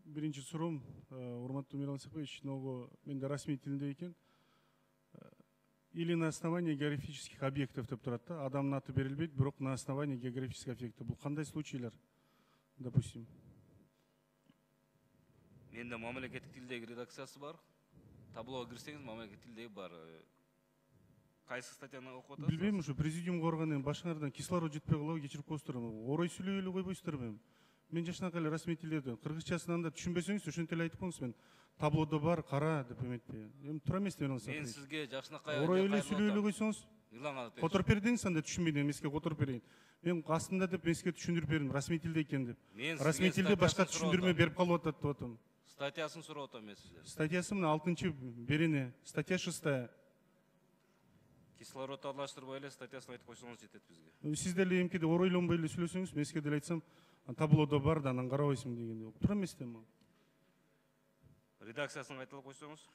биринчи суроом, урматтуу Мейрам Исакбаевич, менде расмий тилинде экен. Или на основании географических объектов деп турат да, адамдын аты берилбейт, бирок на основании географических объектов. Бул кандай случайлар, допустим? Менде мамлекеттик тилдеги редакциясы бар. Таблоға кирсеңиз мамлекеттик тилдеги бар. Кайсы статьяны окуп атасыз? Билбейм, ушу президиумга баргандан башыңардан кислород жетпей калабы, кечирип коесуздар. Орой сүйлөй эле койбойсуздарбы? Мен жашынакай эле расмий тилде кыргызчасын анда түшүнбөсөңүз ошентип эле айтып коюңуз. Мен таблодо бар, кара деп эметпей. Эми тура эмес деп мен сизге жакшынакай орой эле сүйлөй эле койсоңуз. Милан Которуп бердиңиз, анда түшүнбөйм, эмеске которуп берейин. Мен астында деп эмеске түшүндүрүп бердим, расмий тилде экен деп. Расмий тилде башка түшүндүрмө берип калып атат деп атам. Статьясын сурап атам мен сизден. Статьясы мына 6-чы берене, статья 6. Кислород аралаштырбай эле статьясын айтып койсоңуз жетет бизге. Сиз деле эмкеде оройлонбой эле сүйлөсөңүз, мен сизге деле айтсам, таблодо бар да анан карабайсың дегенде. Туура эмес да. Редакциясын айтып койсоңуз.